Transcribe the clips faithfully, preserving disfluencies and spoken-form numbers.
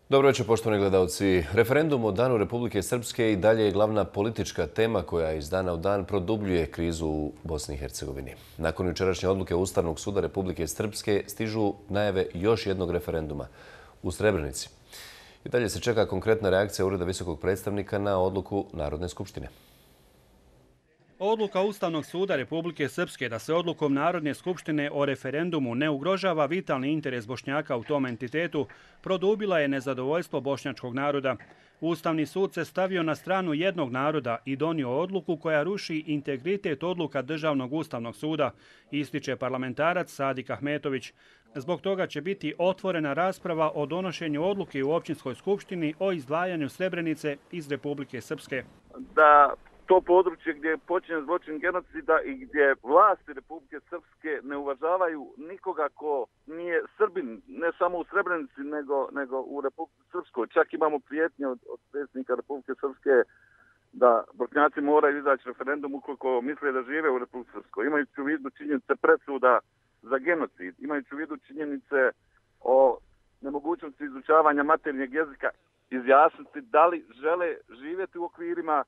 Dobro večer, poštovani gledalci. Referendum o Danu Republike Srpske i dalje je glavna politička tema koja iz dana u dan produbljuje krizu u Bosni i Hercegovini. Nakon jučerašnje odluke Ustavnog suda Republike Srpske stižu najave još jednog referenduma u Srebrenici. I dalje se čeka konkretna reakcija Ureda visokog predstavnika na odluku Narodne skupštine. Odluka Ustavnog suda Republike Srpske da se odlukom Narodne skupštine o referendumu ne ugrožava vitalni interes Bošnjaka u tom entitetu produbila je nezadovoljstvo bošnjačkog naroda. Ustavni sud se stavio na stranu jednog naroda i donio odluku koja ruši integritet odluka Državnog ustavnog suda, ističe parlamentarac Sadik Ahmetović. Zbog toga će biti otvorena rasprava o donošenju odluke u općinskoj skupštini o izdvajanju Srebrenice iz Republike Srpske. Da to područje gdje je počinjen zločin genocida i gdje vlasti Republike Srpske ne uvažavaju nikoga ko nije Srbin, ne samo u Srebrenici, nego, nego u Republike Srpskoj. Čak imamo prijetnje od, od predsjednika Republike Srpske da Bošnjaci moraju izaći referendum ukoliko misle da žive u Republike Srpskoj. Imajući u vidu činjenice presuda za genocid, imajući u vidu činjenice o nemogućnosti izučavanja maternjeg jezika, izjasniti da li žele živjeti u okvirima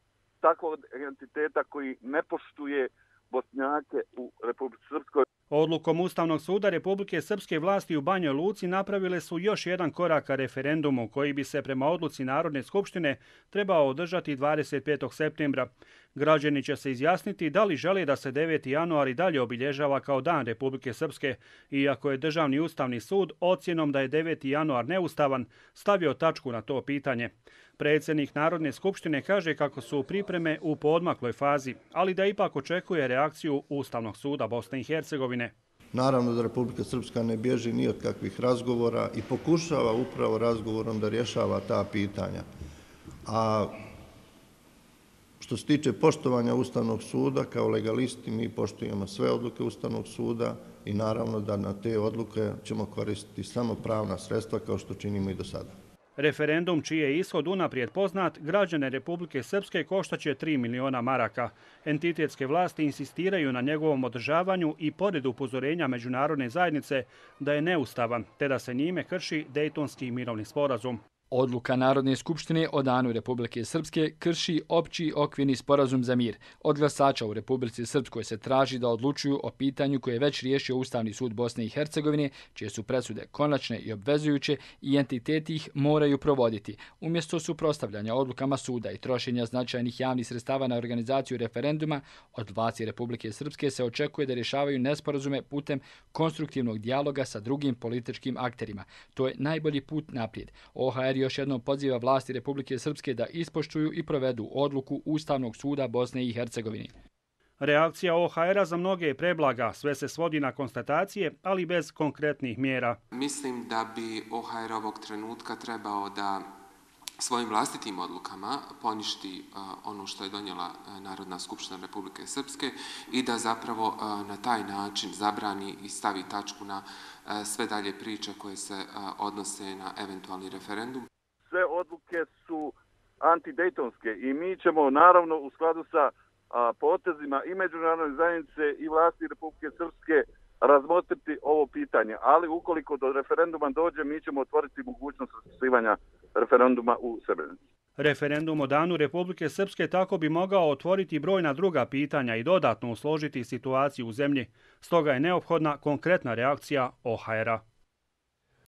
takvog entiteta koji ne poštuje Bošnjake u Republici Srpskoj. Odlukom Ustavnog suda Republike Srpske vlasti u Banjoj Luci napravile su još jedan korak ka referendumu koji bi se prema odluci Narodne skupštine trebao održati dvadeset petog septembra. Građani će se izjasniti da li žele da se deveti januar i dalje obilježava kao Dan Republike Srpske, iako je Državni ustavni sud ocjenom da je deveti januar neustavan stavio tačku na to pitanje. Predsjednik Narodne skupštine kaže kako su pripreme u poodmakloj fazi, ali da ipak očekuje reakciju Ustavnog suda Bosne i Hercegovine. Naravno da Republika Srpska ne bježi ni od kakvih razgovora i pokušava upravo razgovorom da rješava ta pitanja. A što se tiče poštovanja Ustavnog suda, kao legalisti mi poštujemo sve odluke Ustavnog suda i naravno da na te odluke ćemo koristiti samo pravna sredstva kao što činimo i do sada. Referendum, čiji je ishod unaprijed poznat, građane Republike Srpske koštaće tri miliona maraka. Entitetske vlasti insistiraju na njegovom održavanju i pored upozorenja međunarodne zajednice da je neustavan, te da se njime krši Dejtonski mirovni sporazum. Odluka Narodne skupštine o Danu Republike Srpske krši opći okvirni sporazum za mir. Od glasača u Republici Srpskoj se traži da odlučuju o pitanju koje je već riješio Ustavni sud Bosne i Hercegovine, čije su presude konačne i obvezujuće i entiteti ih moraju provoditi. Umjesto suprotstavljanja odlukama suda i trošenja značajnih javnih sredstava na organizaciju referenduma, od vlasti Republike Srpske se očekuje da rješavaju nesporazume putem konstruktivnog dijaloga sa drugim političkim akterima. To je najbolji put naprijed. O H R još jednom poziva vlasti Republike Srpske da ispoštuju i provedu odluku Ustavnog suda Bosne i Hercegovine. Reakcija O H R-a za mnoge je preblaga, sve se svodi na konstatacije, ali bez konkretnih mjera. Mislim da bi O H R ovog trenutka trebao da svojim vlastitim odlukama poništi ono što je donijela Narodna skupština Republike Srpske i da zapravo na taj način zabrani i stavi tačku na sve dalje priče koje se odnose na eventualni referendum. Sve odluke su antidejtonske i mi ćemo naravno u skladu sa potezima i međunarodne zajednice i vlasti Republike Srpske razmotriti ovo pitanje, ali ukoliko do referenduma dođe, mi ćemo otvoriti mogućnost raspisivanja referenduma u Srebrenici. Referendum o Danu Republike Srpske tako bi mogao otvoriti brojna druga pitanja i dodatno usložiti situaciju u zemlji. Stoga je neophodna konkretna reakcija O H R-a.